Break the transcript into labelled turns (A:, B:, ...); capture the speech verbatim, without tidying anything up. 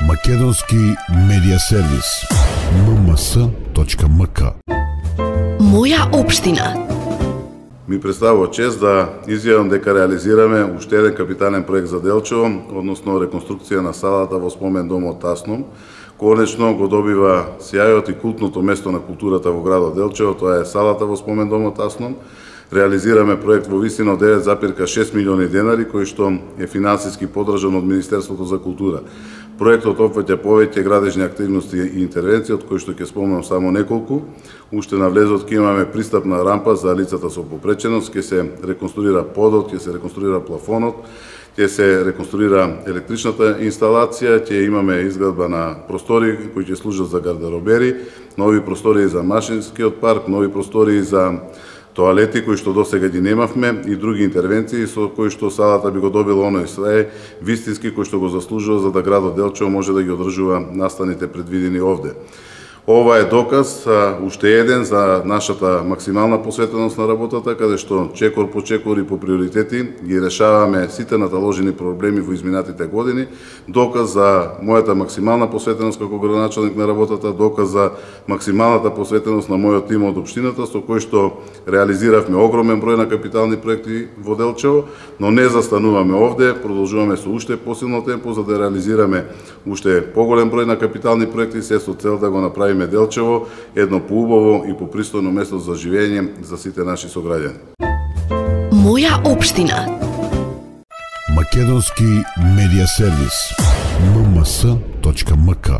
A: Македонски медија сервис ем ем ес точка ем ка.
B: Моја општина.
C: Ми представува чест да изјавам дека реализираме уште еден капитален проект за Делчево, односно реконструкција на салата во спомен домот Тасном. Конечно го добива сјајот и култното место на културата во градот Делчево, тоа е салата во спомен домот Тасном. Реализираме проект во висина од девет запирка шест милиони денари, кој што е финансиски поддржан од Министерството за култура. Проектот опфаќа повеќе градежни активности и интервенции, од кои што ќе спомнам само неколку. Уште на влезот ќе имаме пристапна рампа за лицата со попреченост, ќе се реконструира подот, ќе се реконструира плафонот, ќе се реконструира електричната инсталација, ќе имаме изградба на простори кои ќе служат за гардеробери, нови простори за машинскиот парк, нови простори за тоалети кои што досега ги немавме и други интервенции со кои што салата би го добила оној све вистински кој што го заслужува за да градот Делчево може да ги одржува настаните предвидени овде. Ова е доказ, уште еден, за нашата максимална посветеност на работата, каде што чекор по чекор и по приоритети ги решаваме сите наталожени проблеми во изминатите години, доказ за мојата максимална посветеност како градоначалник на работата, доказ за максималната посветеност на мојот тим од општината, со кој што реализиравме огромен број на капитални проекти во Делчево, но не застануваме овде, продолжуваме со уште посилно темпо за да реализираме уште поголем број на капитални проекти, се со цел да го направиме Делчево едно поубаво и попристојно место за живење за сите наши сограѓани.
B: Моја општина.
A: Македонски медија сервис ем ем ес точка ем ка.